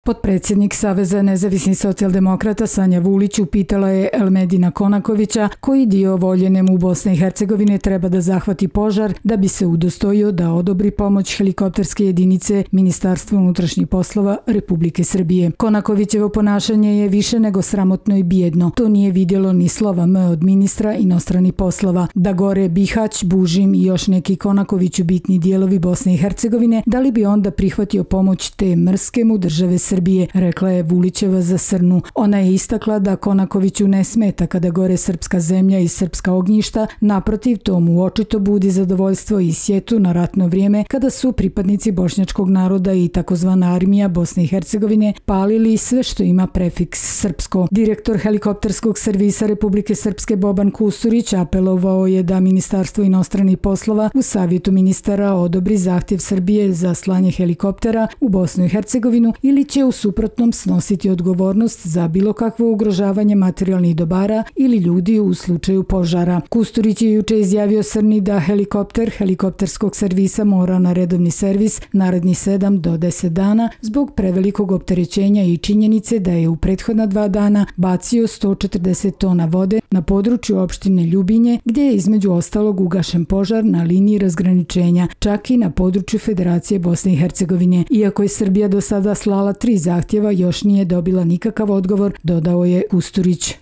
Potpredsjednik Saveza nezavisnih socijaldemokrata Sanja Vulić upitala je Elmedina Konakovića koji dio Voljene mu Bosne i Hercegovine treba da zahvati požar da bi se udostojio da odobri pomoć helikopterske jedinice Ministarstva unutrašnjih poslova Republike Srbije. Konakovićevo ponašanje je više nego sramotno i bijedno. To nije vidjelo ni slova M od ministra inostranih poslova. Da gore Bihać, Bužim i još neki Konakoviću bitni dijelovi Bosne i Hercegovine, da li bi onda prihvatio pomoć te mrske mu države Srbije, rekla je Vulićeva za Srnu. Ona je istakla da Konakoviću ne smeta kada gore srpska zemlja i srpska ognjišta, naprotiv to mu očito budi zadovoljstvo i sjetu na ratno vrijeme kada su pripadnici bošnjačkog naroda i takozvana armija Bosne i Hercegovine palili sve što ima prefiks srpsko. Direktor helikopterskog servisa Republike Srpske Boban Kusturić apelovao je da Ministarstvo inostranih poslova u savjetu ministara odobri zahtjev Srbije za slanje helikoptera u Bosnu i Hercegovinu ili će u suprotnom snositi odgovornost za bilo kakvo ugrožavanje materijalnih dobara ili ljudi u slučaju požara. Kusturić je juče izjavio Srni da helikopter helikopterskog servisa mora na redovni servis narednih 7 do 10 dana zbog prevelikog opterećenja i činjenice da je u prethodna 2 dana bacio 140 tona vode na području opštine Ljubinje, gdje je između ostalog ugašen požar na liniji razgraničenja, čak i na području Federacije Bosne i Hercegovine. Iako je Srbija do sada slala 3 zahtjeva, još nije dobila nikakav odgovor, dodao je Kusturić.